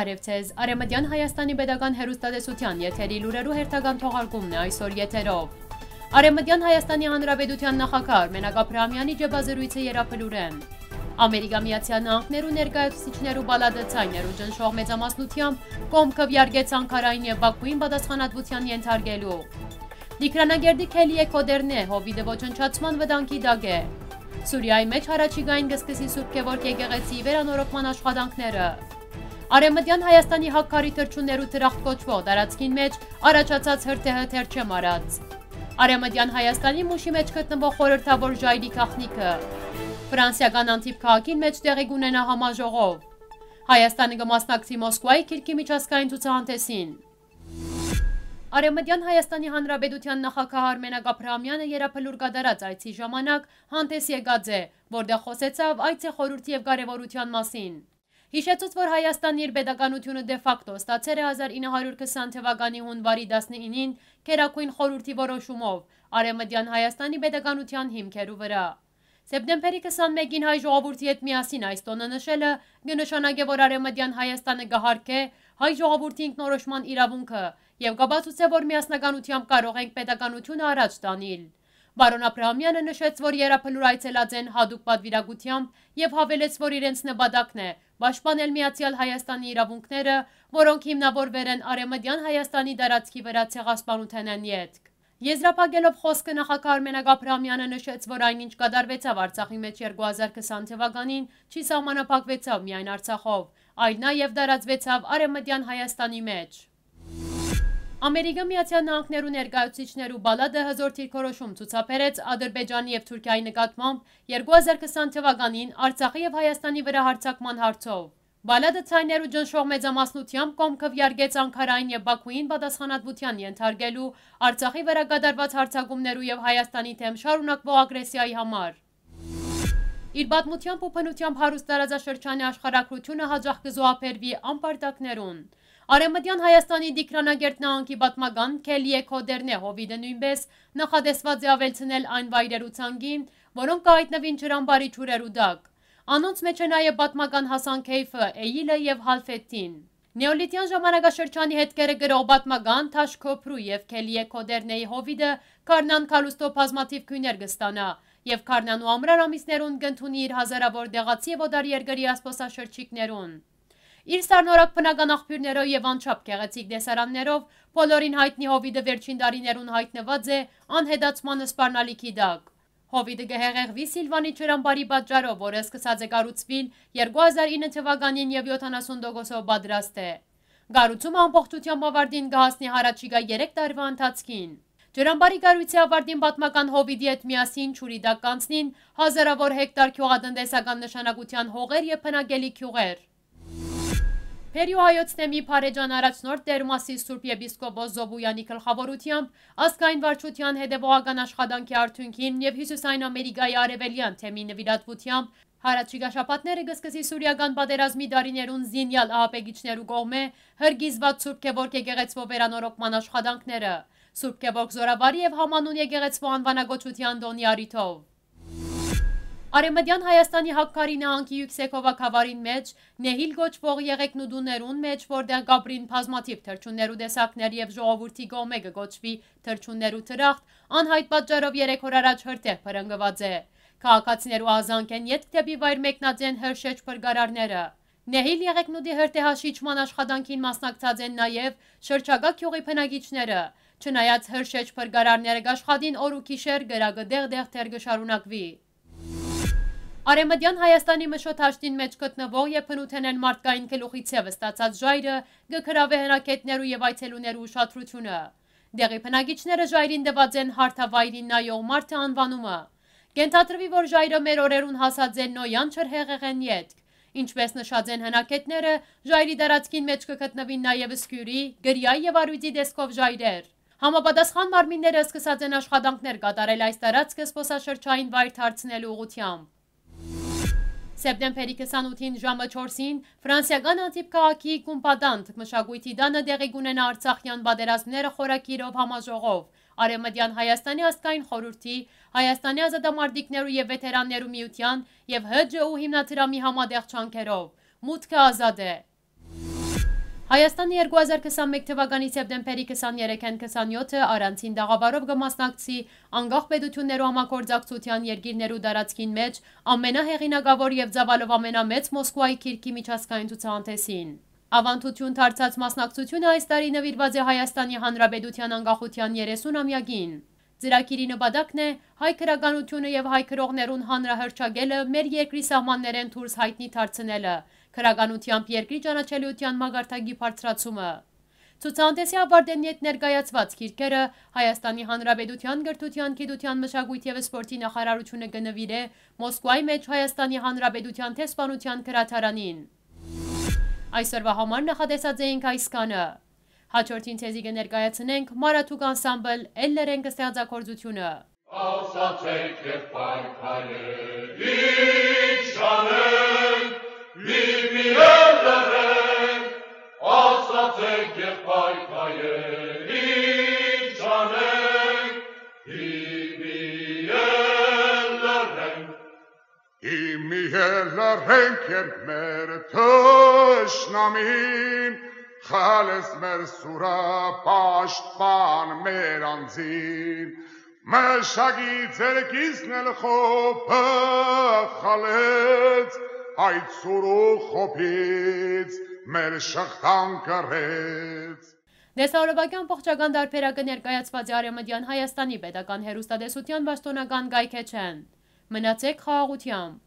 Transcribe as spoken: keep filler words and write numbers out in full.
Բարեւ ձեզ։ Արեւմտեան Հայաստանի պետական հեռուստատեսութեան եթերի լուրերու հերթական թողարկումն է այսօր եթերով։ Արեւմտեան Հայաստանի Հանրապետութեան նախագահ Արմենակ Աբրահամեանի ճեպազրոյցը երաբլուրեն։ Ամերիկա Միացեալ Նահանգներու ներկայացուցիչներու պալատը ձայներու ճնշող մեծամասնութեամբ կողմ քուեարկեց Անգարային եւ Բաքուին պատասխանատվութեան ենթարկելու։ Տիգրանագերդի Քելիե Քոդերնե հովիտը ոչնչացման վտանգի տակ է։ Սուրիայի մէջ յառաջիկային կը սկսի Սուրբ Գեորգ եկեղեցիի վերանորոգման աշխատանքները։ Արեւմտեան Հայաստանի Հակքարի թռչուններու դրախտ կոչուող տարածքին մէջ առաջացած հրդեհը թերչեմ առած։ Արեւմտեան Հայաստանի Մուշի մէջ գտնուող խորհրդավոր ժայռի գաղտնիքը։ Ֆրանսիական Անտիպ քաղաքին մէջ տեղի կունենայ համաժողով։ Հայաստանը կը մասնակցի Մոսկուայի Կիրքի միջազգային ցուցահանդէսին։ Արեւմտեան Հայաստանի Հանրապետութեան նախագահ Արմենակ Աբրահամեանը երաբլուր կատարած այցի ժամանակ հանդէս եկած է, որտեղ խօսեցաւ այցի խորհուրդի եւ կարեւորութեան մասին։ Յիշեցուց, որ Հայաստանը իր պետականութիւնը դե ֆակտո ստացեր է հազար ինը հարիւր քսան թվականի յունուարի տասնինին Գերագոյն խորհուրդի որոշումով Արեւմտեան Հայաստանի պետականութեան հիմքերու վրայ։ Սեպտեմբերի քսանմէկին հայ ժողովուրդի հետ միասին այս տօնը նշելը կը նշանակէ, որ Արեւմտեան Հայաստանը կը յարգէ հայ ժողովուրդի ինքնորոշման իրաւունքը եւ կ'ապացուցէ, որ միասնականութեամբ կարող ենք պետականութիւնը առաջ տանիլ։ Պարոն Աբրահամեանը նշեց, որ երաբլուր այցելած են յատուկ պատուիրակութեամբ եւ յաւելեց, որ իրենց նպատակն է պաշտպանել միացեալ Հայաստանի իրաւունքները, որոնք հիմնաւորուեր են Արեւմտեան Հայաստանի տարածքի վրայ ցեղասպանութենէն ետք։ Եզրափակելով խօսքը նախագահ Արմենակ Աբրահամեանը նշեց, որ այն, ինչ կատարուեցաւ Արցախի մէջ երկու հազար քսան թվականին, չի սահմանափակուեցաւ միայն Արցախով, այլ նաեւ տարածուեցաւ Արեւմտեան Հայաստանի մէջ։ Ամերիկա Միացեալ Նահանգներու ներկայացուցիչներու պալատը հզօր դիրքորոշում ցուցաբերեց Ադրբեջանի եւ Թուրքիայի նկատմամբ երկու հազար քսան թվականին Արցախի եւ Հայաստանի վրայ յարձակման հարցով։ Պալատը ձայներու ճնշող մեծամասնութեամբ կողմ քուեարկեց Անգարային եւ Բաքուին պատասխանատվութեան ենթարկելու Արցախի վրայ կատարուած յարձակումներու եւ Հայաստանի դէմ շարունակուող ագրեսիայի համար։ Իր պատմութեամբ ու բնութեամբ հարուստ տարածաշրջանի աշխարհագրութիւնը յաճախ կը զոհաբերուի անպարտակներուն։ Արեւմտեան Հայաստանի Տիգրանագերդ նահանգի պատմական Քելիե Քոդերնե հովիտը նոյնպէս նախատեսուած է աւելցնել այն վայրերու ցանկին, որոնք կը յայտնուին ջրամբարի ջուրերու տակ։ Անոնց մէջ է նաեւ պատմական Հասան Քեյֆը, Էյիլը եւ Հալֆեդդին։ Նեոլիթեան ժամանակաշրջանի հետքերը կրող պատմական Թաշ Քոփրու եւ Քելիե Քոդերնեի հովիտը Քարնան Քալուստո բազմաթիւ գոյներ կը ստանայ եւ Քարնան ու ամռան ամիսներուն կ'ընդունի իր հազարաւոր տեղացի եւ օտարերկրեայ զբօսաշրջիկներուն։ Իր սառնորակ բնական աղբիւրներով եւ անչափ գեղեցիկ տեսարաններով բոլորին յայտնի հովիտը վերջին տարիներուն յայտնուած է անհետացման սպառնալիքի տակ։ Հովիտը կը հեղեղուի Սիլվանի ջրամբարի պատճառով, որը սկսած է կառուցուիլ երկու հազար ինը թվականին եւ յոթանասուն տոկոսով պատրաստ է։ Կառուցումը ամբողջութեամբ աւարտին կը հասնի յառաջիկայ երեք տարուայ ընթացքին։ Ջրամբարի կառոյցի աւարտին պատմական հովիտի հետ միասին ջուրի տակ կանցնին հազարաւոր հեկտար գիւղատնտեսական նշանակութեան հողեր եւ բնակելի գիւղեր։ Բերիոյ հայոց թեմի բարեջան առաջնորդ Տէրմասի Սուրբ Եպիսկոպոս Զոբոյեանի գլխաւորութեամբ ազգային վարչութեան հետեւողական աշխատանքի արդիւնքին եւ Հիւսիսային Ամերիկայի արեւելեան թեմի նուիրատուութեամբ յառաջիկայ շաբաթները կը սկսի սուրիական պատերազմի տարիներուն զինեալ ահաբեկիչներու կողմէ հրկիզուած Սուրբ Գեորգ եկեղեցւոյ վերանորոգման աշխատանքները, Սուրբ Գեորգ Զօրավարի եւ Համանուն եկեղեցւոյ անուանագոչութեան տօնի առիթով։ Արեւմտեան Հայաստանի Հակքարի նահանգի Իւքսեքովա գաւառին մէջ Նեհիլ կոչուող եղեգնուտուներուն մէջ, որտեղ կ'ապրին բազմաթիւ թռչուններու տեսակներ եւ ժողովուրդի կողմէ կը կոչուի թռչուններու դրախտ, անյայտ պատճառով երեք օր առաջ հրդեհ բռնկուած է։ Քաղաքացիներու ահազանգէն ետք դէպի վայր մեկնած են Հրշեջ փրկարարները։ Նեհիլ եղեգնուտի հրդեհաշիջման աշխատանքին մասնակցած են նաեւ շրջակայ գիւղի բնակիչները։ Չնայած Հրշեջ փրկարարները կ'աշխատին օր ու գիշեր, կրակը դեղ-դեղ դեռ կը շարունակուի։ Արեւմտեան Հայաստանի Մշոտ Հաշտին մէջ գտնուող եւ բնութենէն մարդկային գլուխի ձեւ ստացած ժայռը կը գրաւէ հնագետներու եւ այցելուներու ուշադրութիւնը։ Դեղի բնակիչները ժայռին տուած են հարթավայրին նայող մարդը անուանումը։ Կ'ենթադրուի, որ ժայռը մեր օրերուն հասած է Նոյան ջրհեղեղէն ետք։ Ինչպէս նշած են հնագետները, ժայռի տարածքին մէջ կը գտնուին նաեւ Սկիւրի, Կրիայ եւ Արուիծի տեսքով ժայռեր։ Համապատասխան մարմինները սկսած են աշխատանքներ կատարել այս տարածքը զբօսաշրջային վայր դարձնելու ուղղութեամբ։ Սեպտեմբերի քսանութին ժամը չորսին Ֆրանսիական Անտիպ քաղաքի Կումպատանտ մշակոյթի տանը տեղի կունենայ Արցախեան պատերազմները խորագիրով համաժողով Արեւմտեան Հայաստանի ազգային խորհուրդի, Հայաստանի ազատամարտիկներու եւ վեթերաններու միութեան եւ Հ Ջ Ու հիմնադրամի համատեղ ջանքերով։ Մուտքը ազատ է։ Հայաստանը երկու հազար քսանմէկ թվականի սեպտեմբերի քսաներեքէն քսանեթը առանցին տաղաւարով կը մասնակցի անկախ պետութիւններու համագործակցութեան երկիրներու տարածքին մէջ ամենահեղինակաւոր եւ ծաւալով ամենամեծ Մոսկուայի գիրքի միջազգային ցուցահանդէսին։ Աւանդութիւն դարձած մասնակցութիւնը այս տարի նուիրուած է Հայաստանի Հանրապետութեան անկախութեան երեսուն ամեակին։ Ծրագիրի նպատակն է հայ գրականութիւնը եւ հայ գրողներուն հանրահռչակելը, մեր երկրի սահմաններէն դուրս յայտնի դարձնելը, գրականութեամբ երկրի ճանաչելիութեան մակարդակի բարձրացումը։ Ցուցահանդէսի աւարտէն յետ ներկայացուած գիրքերը Հայաստանի Հանրապետութեան կրթութեան, գիտութեան, մշակոյթի եւ սպորտի նախարարութիւնը կը նուիրէ Մոսկուայի մէջ Հայաստանի Հանրապետութեան դեսպանութեան գրադարանին։ Այսօրվա համար նախատեսած էինք այսքանը։ Հաջորդին ձեզի կը ներկայացնենք Մարաթուկ անսամբլ Էլլերենք ստեղծագործութիւնը։ Ասացեք, եղբայր հայեր, ի՞նչ անենք, մի-մի Էլլերենք, ասացեք, եղբայր հայեր, ի՞նչ անենք, մի-մի Էլլերենք։ Իմի Էլլերենք, երբ մեր թշնամին, խլեց մեր սուրը, պաշտպան մեր անձին, մշակի ձերքիզն էլ խոբը խլեց, այդ սուրու խոբից մեր շղթան կռեց։ Դեսահարովակի ամբողջական տարբերակը ներկայացուած է Արեւմտեան Հայաստանի պետական հեռուստատեսութեան պաշտօնական կայքէջէն։ Մնացեք խաղաղութեամբ։